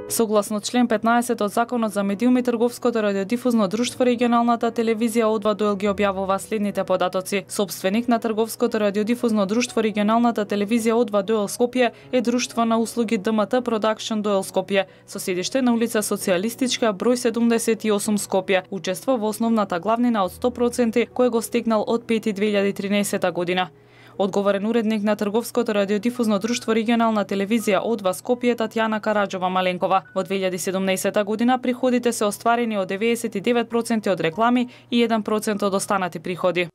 Согласно член 15 од Законот за медиуми, Трговското радиодифузно друштво регионалната телевизија Од2 ги објавува следните податоци. Собственик на Трговското радиодифузно друштво регионалната телевизија Од2 Скопје е друштво на услуги ДМТ Продакшн Доел Скопје, со седиште на улица Социјалистичка, број 78 Скопје. Учества во основната главнина од 100% кој го стегнал од 5.2013 година. Одговорен уредник на Трговското радиодифузно друштво регионална телевизија Од2 Скопје Татјана Караџова Маленкова. Во 2017 година приходите се остварени од 99% од реклами и 1% од останати приходи.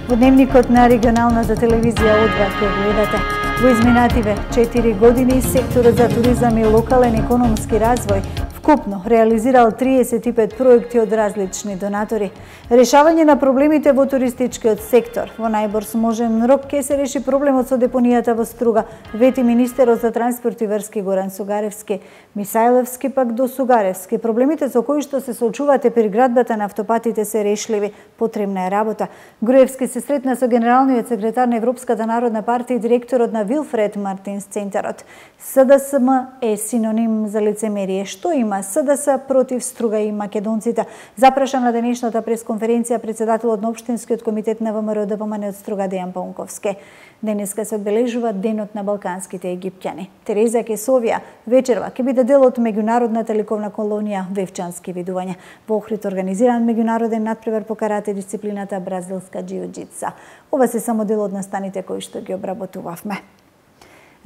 Во дневникот на регионалната телевизија Од2 ќе гледате. Во изминативе 4 години секторот за туризам и локален економски развој вкупно реализирал 35 проекти од различни донатори. Решавање на проблемите во туристичкиот сектор. Во најбрзможен рок ќе се реши проблемот со депонијата во Струга, вети министерот за транспорт и врски Горан Сугаревски. Мисајлевски пак до Сугаревски. Проблемите со кои што се соочувате при градбата на автопатите се решливи. Потребна е работа. Груевски се сретна со генералниот секретар на Европската народна партија и директорот на Вилфред Мартинс центарот. СДСМ е синоним за лицемерие. Што има СДС против Струга и македонците? Запрашан на денешната пресконференција председателот на Општинскиот комитет на ВМРО ДПМН од Струга Дејан Паунковски. Денеска се одбележува Денот на балканските египтјани. Тереза Кесовија вечерва ќе биде дел од меѓународната ликовна колонија Вевчански видувања. Во Охрид организиран меѓународен надпревар по карате дисциплината бразилска џиу-џитса. Ова се само дел од настаните кои што ги обработувавме.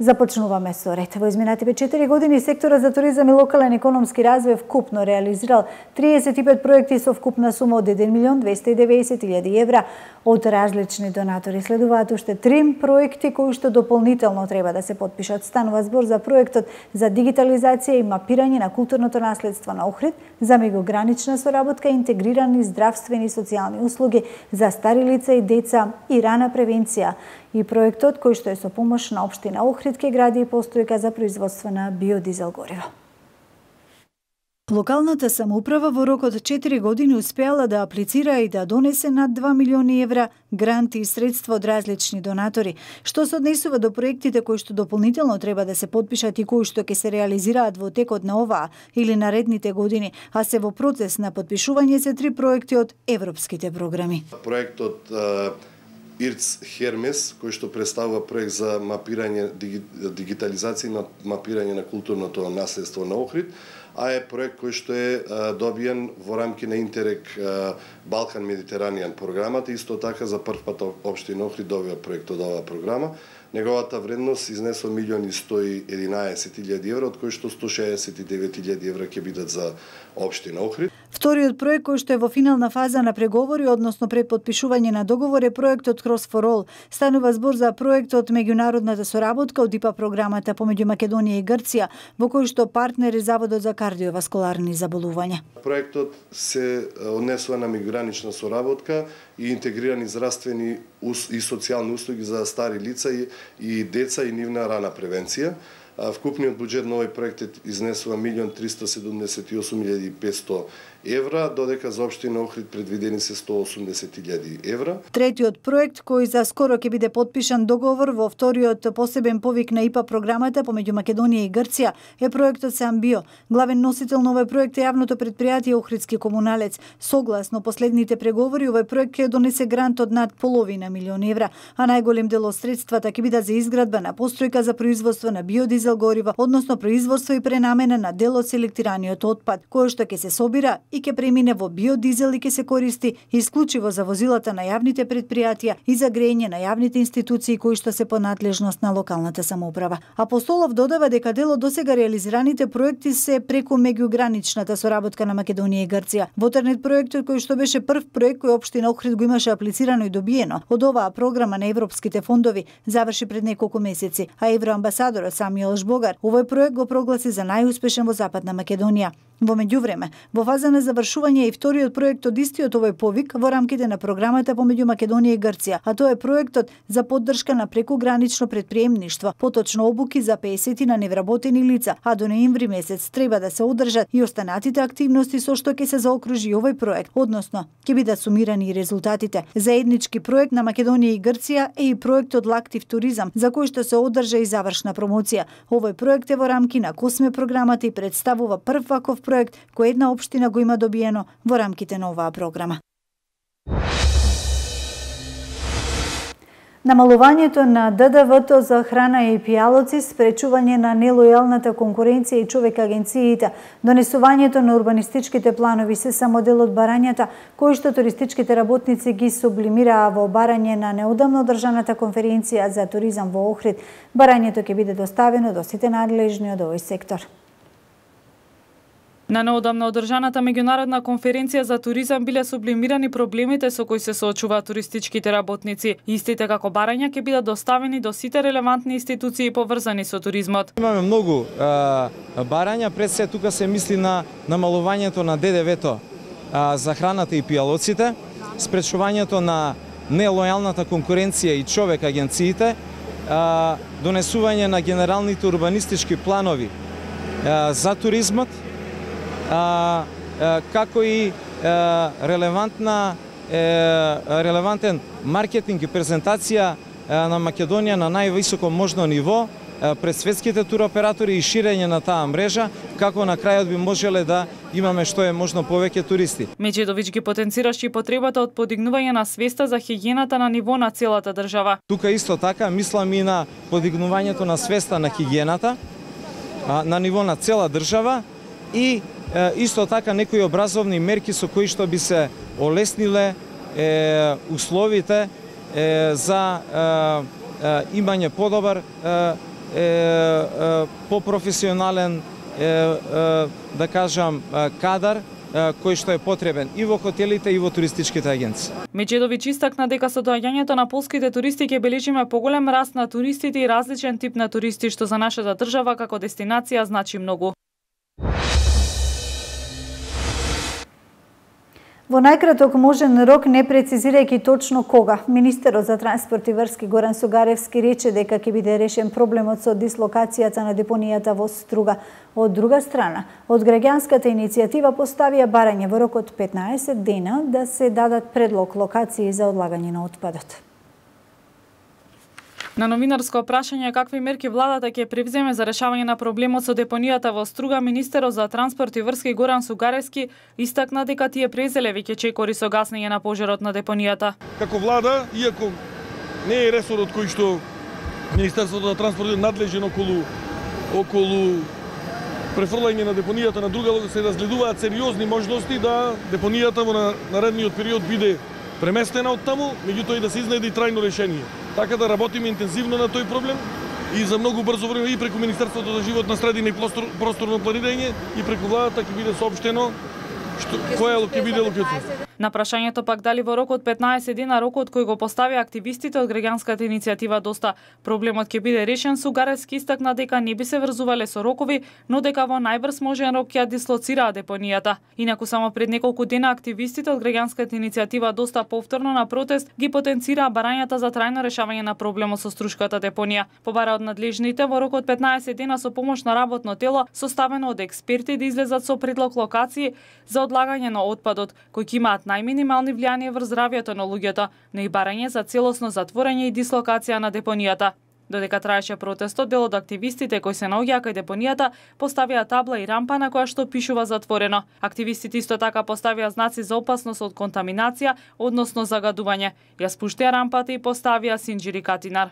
Започнуваме со ред. Во изминативе 4 години секторот за туризам и локален економски развој вкупно реализирал 35 проекти со вкупна сума од 1.290.000 евра од различни донатори. Следуваат уште 3 проекти кои што дополнително треба да се потпишат. Станува збор за проектот за дигитализација и мапирање на културното наследство на Охрид, за меѓугранична соработка, интегрирани здравствени и социјални услуги за стари лица и деца и рана превенција. И проектот кој што е со помош на општина Охрид ќе гради и постојка за производство на биодизел гориво. Локалната самоуправа во рок од 4 години успеала да аплицира и да донесе над 2 милиони евра гранти и средства од различни донатори, што се однесува до проектите кои што дополнително треба да се потпишат и кои што ќе се реализираат во текот на оваа или наредните години, а се во процес на потпишување се 3 проекти од европските програми. Проектот ИРЦ Хермес, кој што представува проект за мапирање, дигитализација на мапирање на културното наследство на Охрид, а е проект кој што е добиен во рамки на Интерек Балкан Медитеранијан програмата. Исто така за прв пат општина Охрид добива проект од оваа програма. Неговата вредност изнесува 1.111.000 евра, од кои што 169.000 евра ќе бидат за општина Охрид. Вториот проект кој што е во финална фаза на преговори, односно пред потпишување на договор, е проектот Cross for All. Станува збор за проектот меѓународната соработка од ИПА програмата помеѓу Македонија и Грција, во кој што партнер е Заводот за кардиоваскуларни заболувања. Проектот се однесува на меѓугранична соработка и интегрирани здравствени и социјални услуги за стари лица и деца и нивна рана превенција. Вкупниот буџет на овој проект изнесува 1.378.500 евра, додека за општина Охрид предвидени се 180.000 евра. Третиот проект кој за скоро ќе биде потпишан договор во вториот посебен повик на ИПА програмата помеѓу Македонија и Грција е проектот Самбио. Главен носител на овој проект е јавното претпријатие Охридски комуналец. Согласно последните преговори, овој проект ќе донесе грант од над половина милион евра, а најголем дел од средствата ќе бидат за изградба на постојка за производство на биодизел гориво, односно производство и пренамена на дел од селектираниот отпад, кој што ќе се собира и ќе премине во биодизел и ќе се користи исклучиво за возилата на јавните претпријатија и за грејење на јавните институции кои што се по надлежност на локалната самоуправа. Апостолов додава дека дел од досега реализираните проекти се преку меѓуграничната соработка на Македонија и Грција. Вотернет проектот кој што беше прв проект кој општина Охрид го имаше аплицирано и добиено од оваа програма на европските фондови, заврши пред неколку месеци, а евроамбасадорот Самиел Жбогар овој проект го прогласи за најуспешен во Западна Македонија. Во меѓувреме, во фаза на завршување е и вториот проект од истиот овој повик во рамките на програмата помеѓу Македонија и Грција, а тоа е проектот за поддршка на прекугранично претприемништво, поточно обуки за 50 на невработени лица, а до ноември месец треба да се одржат и останатите активности со што ќе се заокружи овој проект, односно ќе бидат сумирани и резултатите. Заеднички проект на Македонија и Грција е и проектот Лактив туризам, за кој што се одржа и завршна промоција. Овој проект е во рамки на Косме програмата и представува прв ваков проект кој една општина го има добиено во рамките на оваа програма. Намалувањето на ДДВ-то за храна и пијалоци, спречување на нелојалната конкуренција и човек агенциите, донесувањето на урбанистичките планови се само дел од барањата кои што туристичките работници ги сублимираа во барање на неодамно одржаната конференција за туризам во Охрид. Барањето ќе биде доставено до сите надлежни од овој сектор. На неодамно одржаната меѓународна конференција за туризам биле сублимирани проблемите со кои се соочуваат туристичките работници. Истите како барања ќе бидат доставени до сите релевантни институции поврзани со туризмот. Имаме многу барања, пред се тука се мисли на намалувањето на ДДВ-то за храната и пијалоците, спречувањето на нелојалната конкуренција и човек агенциите, донесување на генералните урбанистички планови за туризмот, како и релевантен маркетинг и презентација на Македонија на највисоко можно ниво пред светските туроператори и ширење на таа мрежа, како на крајот би можеле да имаме што е можно повеќе туристи. Меджедовиќ ги потенцираше и потребата од подигнување на свеста за хигиената на ниво на целата држава. Тука исто така мислам и на подигнувањето на свеста на хигиената на ниво на цела држава и исто така некои образовни мерки со кои што би се олесниле условите за имање подобар попрофесионален да кажам кадар кој што е потребен и во хотелите и во туристичките агенции. Меджедовиќ истакна дека со доаѓањето на полските туристи ќе бележиме поголем раст на туристите и различен тип на туристи што за нашата држава како дестинација значи многу. Во најкраток можен рок, не прецизирајќи точно кога, министерот за транспорт и врски Горан Сугаревски рече дека ќе биде решен проблемот со дислокацијата на депонијата во Струга. Од друга страна, од граѓанската иницијатива поставија барање во рок од 15 дена да се дадат предлог локации за одлагање на отпадот. На новинарско прашање какви мерки владата ќе превземе за решавање на проблемот со депонијата во Струга, министерот за транспорт и врски Горан Сугаревски истакна дека тие презеле веќе чекори со гаснење на пожарот на депонијата. Како влада, иако не е ресорот кој што Министерството за транспорт е надлежен околу префрлање на депонијата на друга, се разгледуваат сериозни можности да депонијата во наредниот период биде преместена од таму, меѓутоа и да се изнајде трајно решение. Така да работиме интензивно на тој проблем и за многу брзо време и преку Министерството за животна средина и просторно планирање и преку владата ќе биде соопштено која ќе биде локација. На прашањето пак дали во рок од 15 дена, рокот кој го поставија активистите од граѓанската иницијатива доста проблемот ќе биде решен, Сугаревски истакна дека не би се врзувале со рокови, но дека во најбрз можен рок ќе дислоцираа депонијата. Инаку само пред неколку дена активистите од граѓанската иницијатива доста повторно на протест ги потенцираа барањата за трајно решавање на проблемот со струшката депонија. Побара од надлежните во рок од 15 дена со помош на работно тело составено од експерти да излезат со предлог локации за одлагање на отпадот, кои ќе имаат најминимални влијание врз здравјето на луѓето, но и барање за целосно затворање и дислокација на депонијата. Додека траеше протестот, дел од активистите кои се наоѓаа кај депонијата поставија табла и рампа на која што пишува затворено. Активистите исто така поставија знаци за опасност од контаминација, односно загадување. Ја спуштија рампата и поставија синџири катинар.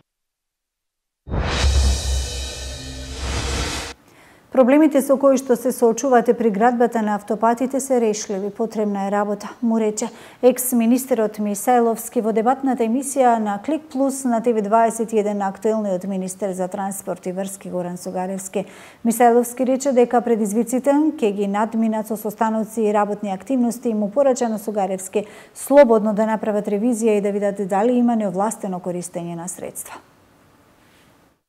Проблемите со кои што се соочувате при градбата на автопатите се решливи, потребна е работа, му рече екс-министерот Мисајловски во дебатната емисија на Клик Плюс на ТВ21 актуелниот министер за транспорт и врски Горан Сугаревски. Мисајловски рече дека предизвиците ќе ги надминат со состаноци и работни активности и му порача на Сугаревски слободно да направат ревизија и да видат дали има неовластено користење на средства.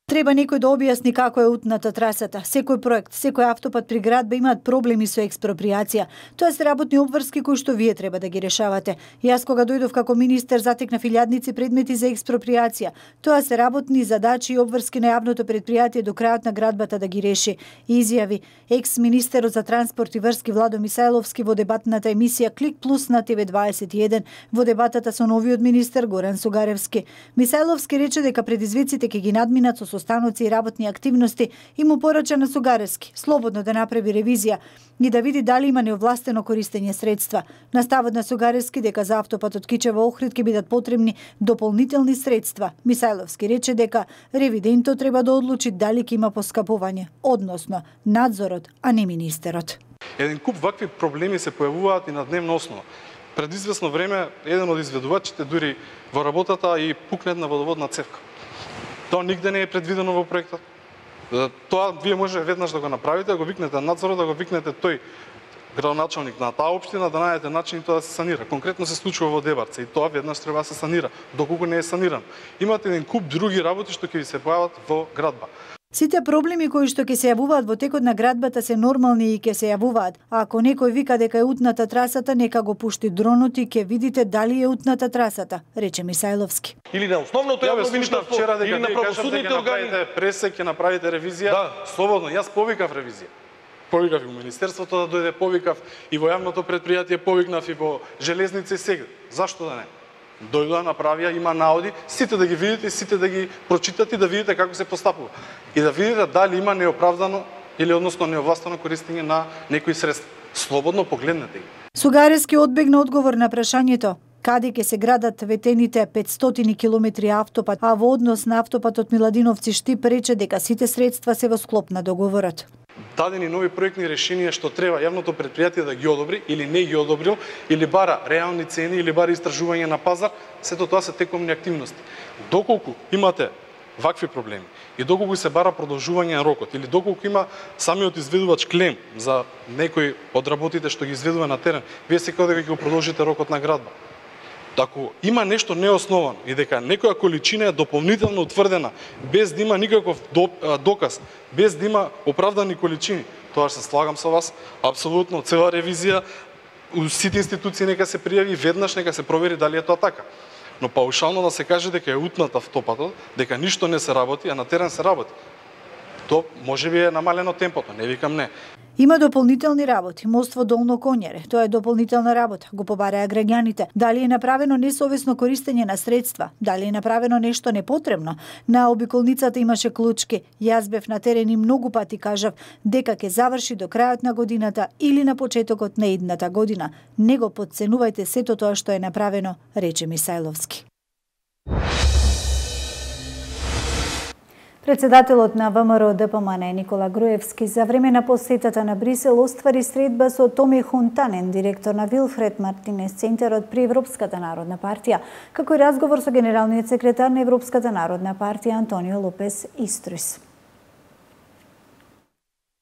Треба некој да објасни како е утната трасата. Секој проект, секој автопат при градба имаат проблеми со експроприација. Тоа се работни обврски кои што вие треба да ги решавате. Јас кога дојдов како министер затекнав илјадници предмети за експроприација. Тоа се работни задачи и обврски на јавното предпријатие до крајот на градбата да ги реши. Изјави екс-министерот за транспорт и врски Владо Мисајловски во дебатната емисија Клик Плюс на ТВ21 во дебатата со новиот министер Горан Сугаревски. Мисајловски рече дека предизвиците ќе ги надминат со состаноци и работни активности и му порача на Сугаревски слободно да направи ревизија и да види дали има неовластено користење средства. На ставот на Сугаревски дека за автопатот Кичево Охрид ќе бидат потребни дополнителни средства. Мисајловски рече дека ревидентот треба да одлучи дали ќе има поскапување, односно надзорот, а не министерот. Еден куп вакви проблеми се појавуваат и на дневна основа. Пред известно време еден од изведувачите дури во работата и пукне една водоводна цевка. Тоа нигде не е предвидено во проектот. Тоа вие може веднаш да го направите, да го викнете надзорот, да го викнете тој градоначалник на таа општина, да најдете начин тоа да се санира. Конкретно се случува во Дебарце и тоа веднаш треба да се санира, доколку не е саниран. Имате еден куп други работи што ќе ви се појават во градба. Сите проблеми кои што ќе се јавуваат во текот на градбата се нормални и ќе се јавуваат. А ако некој вика дека е утната трасата, нека го пушти дронот и ќе видите дали е утната трасата, рече Мисајловски. Или на основното јавно министерство, вчера дека или на правосудните органи. Пресек ќе направите ревизија, да. Слободно. Јас повикав ревизија. Повикав и во министерството да дојде, повикав и во јавното предпријатие, повикнав и во железници сега. Зашто да не? Дојдоа, направија, има наоди, сите да ги видите, сите да ги прочитате, да видите како се постапува. И да видите дали има неоправдано или односно неовластено користење на некои средства. Слободно погледнете ги. Сугаревски одбегна одговор на прашањето каде ќе се градат ветените 500 километри автопат, а во однос на автопатот Миладиновци Штип рече дека сите средства се во склоп на договорот. Дадени нови проектни решенија што треба јавното предпријатие да ги одобри или не ги одобрил, или бара реални цени, или бара истражување на пазар, сето тоа се текомни активности. Доколку имате вакви проблеми и доколку се бара продолжување на рокот, или доколку има самиот изведувач клем за некои од работите што ги изведува на терен, вие секако дека ќе го продолжите рокот на градба. Ако има нешто неосновано и дека некоја количина е дополнително утврдена без да има никаков доказ, без да има оправдани количини, тоа се слагам со вас, апсолутно цела ревизија, сите институции нека се пријави веднаш, нека се провери дали е тоа така. Но паушално да се каже дека е утнат автопатот, дека ништо не се работи, а на терен се работи. Тоа можеби е намалено темпото, не викам не. Има дополнителни работи. Мост во Долно Конјаре, тоа е дополнителна работа, го побараа граѓаните. Дали е направено несовесно користење на средства? Дали е направено нешто непотребно? На обиколницата имаше клучки. Јас бев на терен и многу пати кажав дека ќе заврши до крајот на годината или на почетокот на идната година. Не го потценувајте сето тоа што е направено, рече Мисајловски. Председателот на ВМРО ДПМН Никола Груевски за време на посетата на Брисел оствари средба со Томи Хунтанен, директор на Вилфред Мартинес Центарот при Европската народна партија, како и разговор со генералниот секретар на Европската народна партија Антонио Лопес Истрис.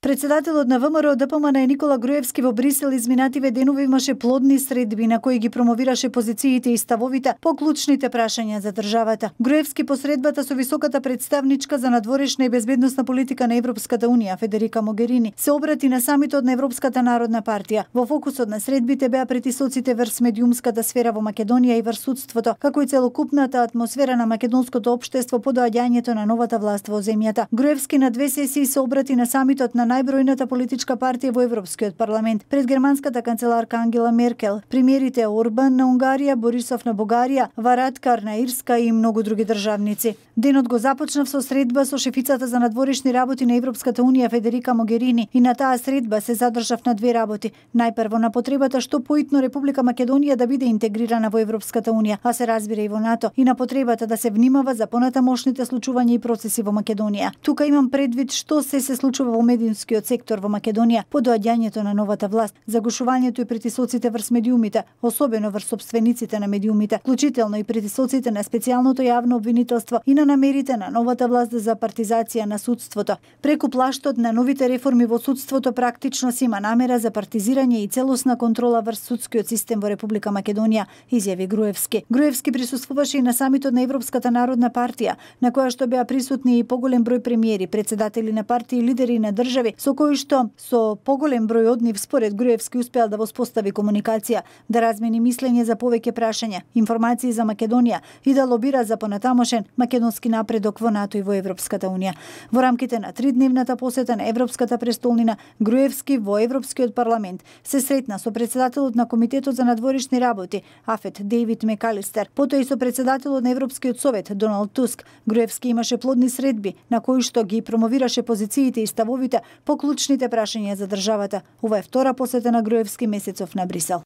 Председателот на ВМРО ДПМН Никола Груевски во Брисел изминативе денови имаше плодни средби на кои ги промовираше позициите и ставовите по клучните прашања за државата. Груевски по средбата со високата представничка за надворешна и безбедносна политика на Европската унија Федерика Могерини се обрати на самитот на Европската народна партија. Во фокусот на средбите беа притисоците врз медиумската сфера во Македонија и врз судството, како и целокупната атмосфера на македонското општество по доаѓањето на новата власт во земјата. Груевски на две сесии се обрати на самитот на најбројната политичка партија во Европскиот парламент, пред германската канцеларка Ангела Меркел, премиерите Орбан на Унгарија, Борисов на Бугарија, Варадкар на Ирска и многу други државници. Денот го започнав со средба со шефицата за надворешни работи на Европската унија Федерика Могерини и на таа средба се задржав на две работи. Најпрво на потребата што поитно Република Македонија да биде интегрирана во Европската унија, а се разбира и во НАТО, и на потребата да се внимава за понатамошните случувања и процеси во Македонија. Тука имам предвид што се случува во медиумската медиумскиот сектор во Македонија по доаѓањето на новата власт, загушувањето и притисоците врз медиумите, особено врз сопствениците на медиумите, вклучително и притисоците на специјалното јавно обвинителство и на намерите на новата власт за партизација на судството. Преку плаштот на новите реформи во судството практично се има намера за партизирање и целосна контрола врз судскиот систем во Република Македонија, изјави Груевски. Груевски присуствуваше и на самитот на Европската народна партија, на која што беа присутни и поголем број премиери, председатели на партии и лидери на држави, со кои што со поголем број од нив според Груевски успеал да воспостави комуникација, да размени мислење за повеќе прашања, информации за Македонија и да лобира за понатамошен македонски напредок во НАТО и во Европската унија. Во рамките на 3-дневната посета на Европската престолнина, Груевски во Европскиот парламент се сретна со председателот на Комитетот за надворешни работи АФЕТ Дейвид Мекалистер, потоа и со председателот на Европскиот совет Доналд Туск. Груевски имаше плодни средби на кои што ги промовираше позициите и ставовите по клучните прашања за државата. Ова е втора посета на Груевски месецов на Брисел.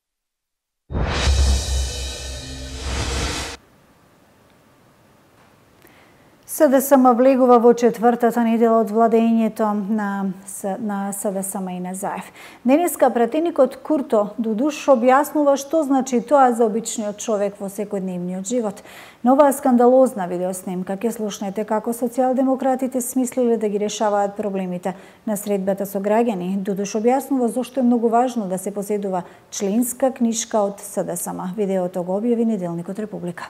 СДСМ влегува во четвртата недела од владењето на СДСМ и на Заев. Денеска пратеникот Курто Дудуш објаснува што значи тоа за обичниот човек во секојдневниот живот. На оваа скандалозна видеоснимка ќе слушнете како социјалдемократите смислиле да ги решаваат проблемите на средбата со граѓани. Дудуш објаснува зошто е многу важно да се поседува членска книшка од СДСМ. Видеото го објави Неделникот Република.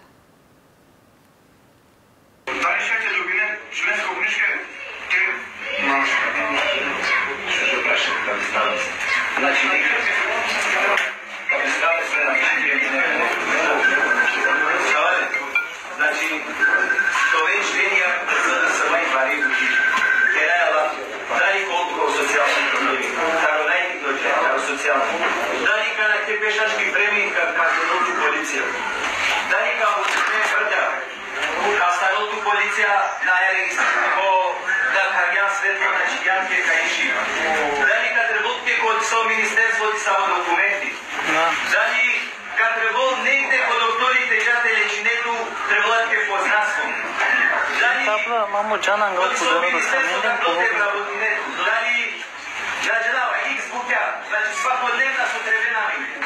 Мамо Джанан го подарува да се менден по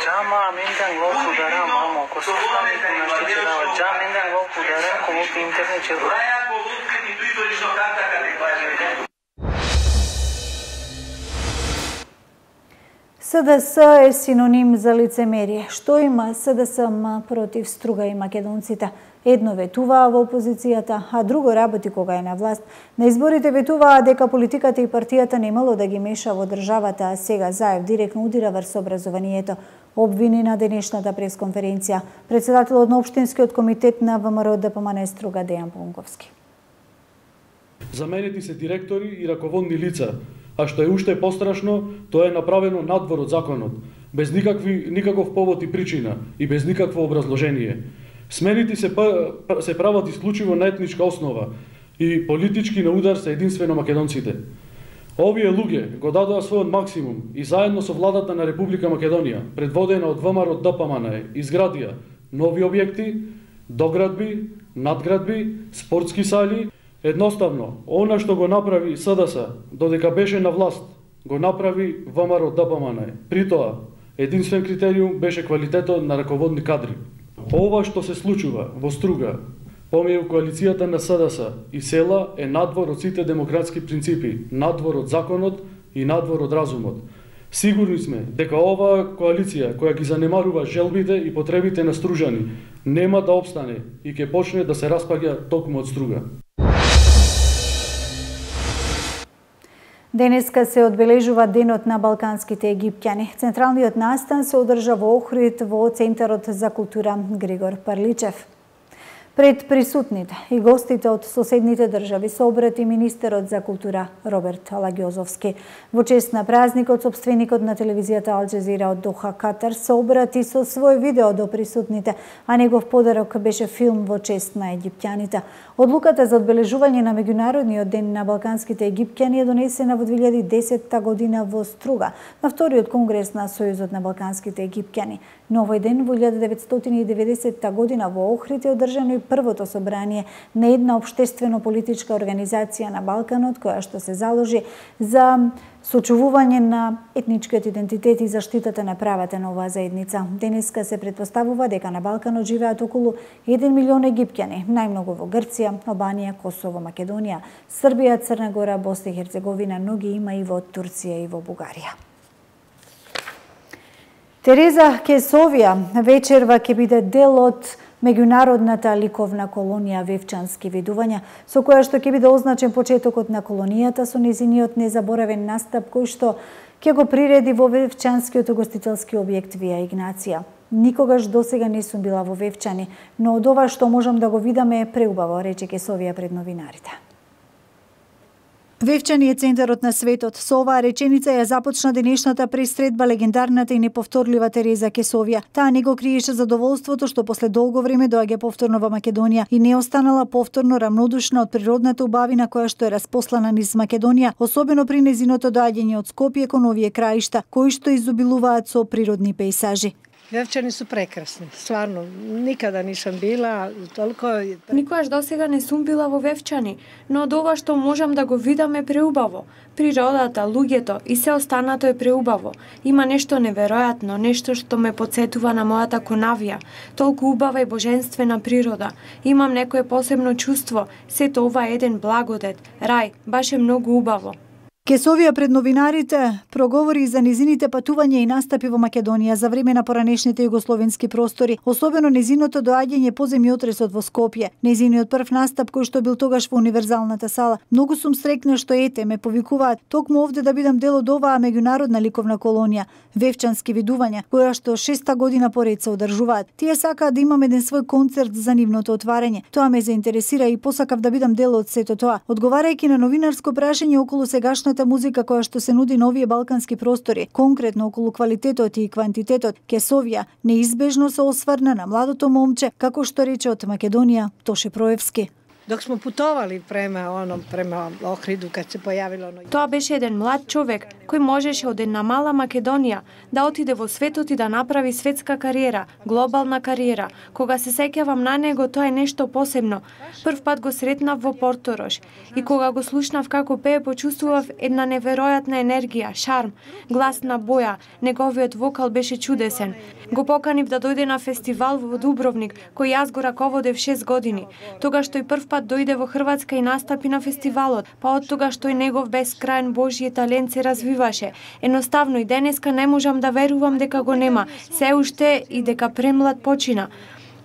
Джама менден го подарува мамо ко се стане на штичава Джа менден го подарува ко во интернет че СДС е синоним за лицемерие. Што има СДСМ против Струга и македонците? Едно ветуваа во опозицијата, а друго работи кога е на власт. На изборите ветуваа дека политиката и партијата немало да ги меша во државата, а сега Заев директно удира врз образованието. Обвини на денешната пресконференција председателот на Општинскиот комитет на ВМРО ДПМН Струга Дејан Понковски. Заменети се директори и раководни лица, а што е уште пострашно, тоа е направено надвор од законот, без никаков повод и причина и без никакво образложение. Смените се прават исклучиво на етничка основа и политички на удар се единствено македонците. Овие луѓе го дадоа својот максимум и заедно со владата на Република Македонија, предводена од ВМРО ДПМН, изградија нови објекти, доградби, надградби, спортски сали. Едноставно, она што го направи СДС додека беше на власт, го направи ВМРО ДПМН. При тоа, единствен критериум беше квалитетот на раководни кадри. Ова што се случува во Струга, помеѓу коалицијата на СДС и села е надвор од сите демократски принципи, надвор од законот и надвор од разумот. Сигурни сме дека оваа коалиција која ги занемарува желбите и потребите на стружани нема да опстане и ќе почне да се распаѓа токму од Струга. Денеска се одбележува Денот на балканските египтјани. Централниот настан се одржа во Охрид во Центарот за култура Григор Парличев. Пред присутните и гостите од соседните држави се обрати министерот за култура Роберт Алагјозовски. Во чест на празникот, сопственикот на телевизијата Ал Џезира од Доха, Катар, се обрати со свој видео до присутните, а негов подарок беше филм во чест на египтјаните. Одлуката за одбележување на Меѓународниот ден на балканските египтјани е донесена во 2010 година во Струга, на вториот конгрес на Сојузот на балканските египтјани. На овој ден во 1990 година во Охрид е одржано и првото собрание на една општествено-политичка организација на Балканот, која што се заложи за сочувување на етничкиот идентитет и заштитата на правата на оваа заедница. Денеска се претпоставува дека на Балканот живеат околу 1 милион египтјани, најмногу во Грција, Албанија, Косово, Македонија, Србија, Црна Гора, Босна и Херцеговина, но ги има и во Турција и во Бугарија. Тереза Кесовија вечерва ќе биде дел од меѓународната ликовна колонија Вевчански видувања, со која што ќе биде означен почетокот на колонијата со незиниот незаборавен настап кој што ќе го приреди во Вевчанскиот угостителски објект Вија Игнација. Никогаш досега не сум била во Вевчани, но од ова што можам да го видам е преубаво, рече Кесовија пред новинарите. Вевчани е центарот на светот. Со оваа реченица ја започна денешната пресредба легендарната и неповторлива Тереза Кесовија. Таа не го криеше задоволството што после долго време доаѓа повторно во Македонија и не останала повторно рамнодушна од природната убавина која што е распослана низ Македонија, особено при незиното доаѓање од Скопје кон овие краишта, кои што изобилуваат со природни пејсажи. Вевчани су прекрасни, стварно, никада нишам била, толку... Никогаш досега не сум била во Вевчани, но од ова што можам да го видам е преубаво. Природата, луѓето и се останато е преубаво. Има нешто неверојатно, нешто што ме потсетува на мојата Конавија. Толку убава и божествена природа. Имам некое посебно чувство, сето ова е еден благодет, рај, баш е многу убаво. Кесовија пред новинарите проговори за незините патувања и настапи во Македонија за време на поранешните југословенски простори, особено незиното доаѓање по земјотресот во Скопје, незиниот прв настап кој што бил тогаш во универзалната сала. Многу сум среќна што ете ме повикуваат токму овде да бидам дел од оваа меѓународна ликовна колонија, Вевчански видувања, која што 6-та година поред се одржуваат. Тие сакаат да имам еден свој концерт за нивното отварање. Тоа ме заинтересира и посакав да бидам дел од сето тоа. Одговарајќи на новинарско прашање околу сегашната музика која што се нуди на овие балкански простори, конкретно околу квалитетот и квантитетот, Кесовија неизбежно се осврна на младото момче, како што рече од Македонија, Тоше Проевски. Док смо путовали према Охриду, кад се појавило... Тоа беше еден млад човек кој можеше од една мала Македонија да отиде во светот и да направи светска кариера, глобална кариера. Кога се сеќавам на него, тоа е нешто посебно. Прв пат го сретнав во Порторош и кога го слушнав како пее, почувствував една неверојатна енергија, шарм, гласна боја, неговиот вокал беше чудесен. Го поканив да дојде на фестивал во Дубровник, кој јас го раководев 6 години. Тогаш тој прв пат дојде во Хрватска и настапи на фестивалот, па од тогаш тој негов бескрајен Божји талент се развиваше. Едноставно и денеска не можам да верувам дека го нема, се уште и дека премлад почина.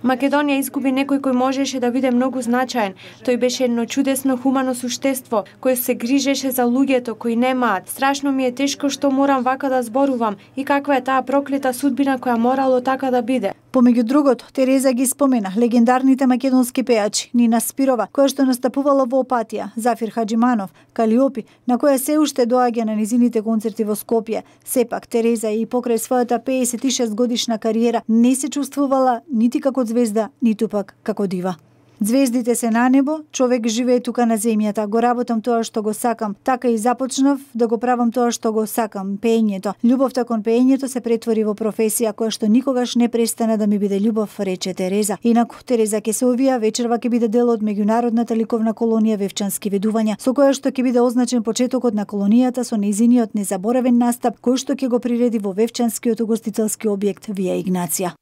Македонија изгуби некој кој можеше да биде многу значаен. Тој беше едно чудесно хумано суштество, кој се грижеше за луѓето кои немаат. Страшно ми е тешко што морам вака да зборувам и каква е таа проклета судбина која морало така да биде. Помеѓу другото, Тереза ги спомена легендарните македонски пејачи Нина Спирова, која што настапувала во Опатија, Зафир Хаџиманов, Калиопи, на која се уште доаѓа на низините концерти во Скопје. Сепак Тереза и покрај својата 56 годишна кариера не се чувствувала нити како звезда, ниту пак како дива. Звездите се на небо, човек живее тука на земјата. Го работам тоа што го сакам. Така и започнав да го правам тоа што го сакам, пеењето. Љубовта кон пеењето се претвори во професија која што никогаш не престана да ми биде љубов, рече Тереза. Инаку Тереза Кесовија вечерва ќе биде дел од меѓународната ликовна колонија Вевчански видувања, со која што ќе биде означен почетокот на колонијата со незиниот незаборавен настап кој што ќе го приреди во Вевчанскиот угостителски објект Вија Игнација.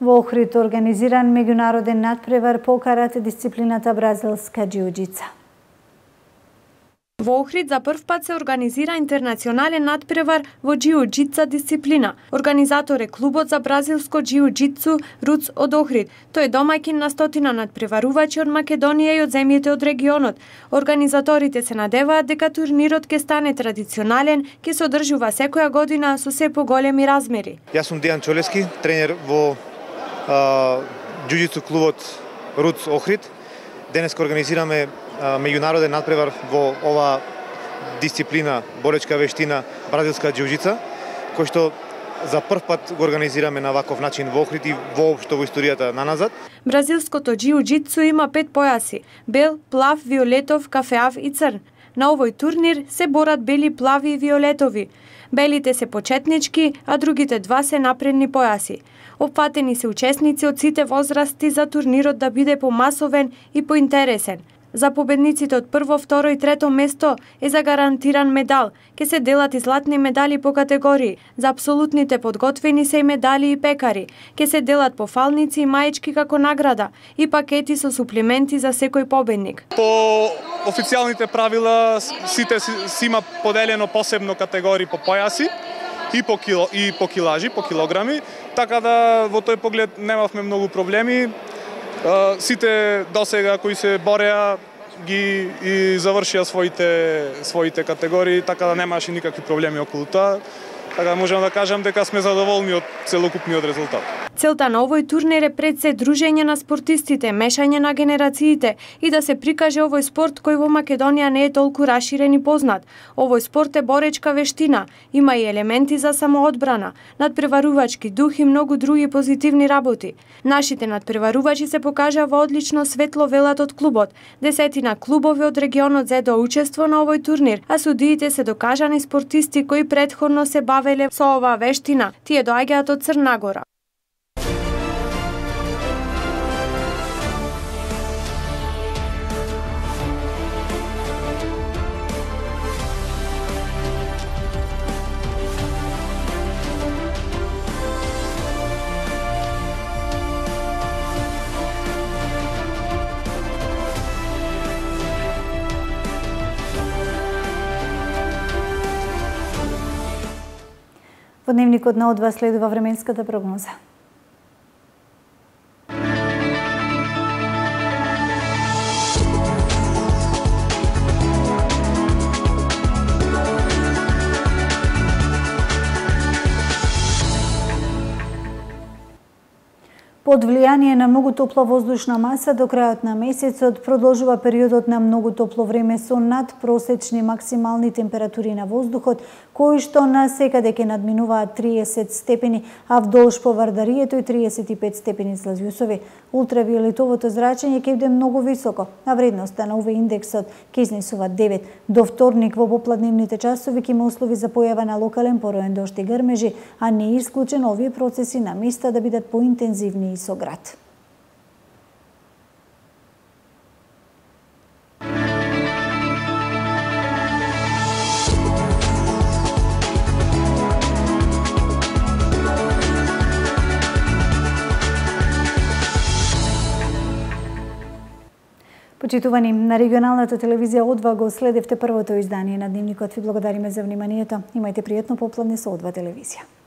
Во Охрид организиран меѓународен надпревар по карате дисциплината бразилска џиу-џица. Во Охрид за прв пат се организира интернационален надпревар во џиу-џица дисциплина. Организатор е клубот за бразилско џиу-џицу Руц од Охрид. Тој е домаќин на стотина надпреварувачи од Македонија и од земјите од регионот. Организаторите се надеваат дека турнирот ќе стане традиционален, ќе се одржува секоја година со се поголеми размери. Јас сум Дејан Чолески, тренер во џиу-џицу клубот Руц Охрид. Денес организираме меѓународен надпревар во ова дисциплина, боречка вештина, бразилска џиу-џица, кој што за прв пат го организираме на ваков начин во Охрид и воопшто во историјата на назад. Бразилското џиу-џитсу има 5 појаси: бел, плав, виолетов, кафеав и црн. На овој турнир се борат бели, плави и виолетови. Белите се почетнички, а другите два се напредни појаси. Опфатени се учесници од сите возрасти за турнирот да биде помасовен и поинтересен. За победниците од прво, второ и трето место е загарантиран медал. Ке се делат и златни медали по категории. За апсолутните подготвени се и медали и пекари. Ке се делат пофалници и маечки како награда и пакети со суплементи за секој победник. По официјалните правила сите си има поделено посебно категории по појаси и по килажи, по килограми, така да во тој поглед немавме многу проблеми. Сите досега кои се бореа ги и завршија своите категории, така да немаше никакви проблеми околу тоа. Така да можам да кажам дека сме задоволни од целокупниот резултат. Целта на овој турнир е пред се дружење на спортистите, мешање на генерациите и да се прикаже овој спорт кој во Македонија не е толку раширен и познат. Овој спорт е боречка вештина, има и елементи за самоодбрана, надпреварувачки дух и многу други позитивни работи. Нашите надпреварувачи се покажаа во одлично светло, велат од клубот. 10 клубови од регионот зедоа учество на овој турнир, а судиите се докажани спортисти кои претходно се бавеле со оваа вештина. Тие доаѓаат од Црна Гора. Во дневникот на Од2 следува временската прогноза. Под влијание на многу топла воздушна маса до крајот на месецот продолжува периодот на многу топло време со надпросечни максимални температури на воздухот, кои што на секаде ќе надминуваат 30 степени, а вдолж по Вардарието и 35 степени Целзиусови. Ултравиолетовото зрачење ќе биде многу високо, а вредноста на УВ индексот ќе изнесува 9. До вторник во попладневните часови ќе има услови за појава на локален пороен дожд и грмежи, а не е исклучено овие процеси на места да бидат поинтензивни со град. Почитувани, на регионалната телевизија Од2 го следевте првото издание на Дневникот. Ви благодариме за вниманието. Имајте пријатно попладне со Од2 телевизија.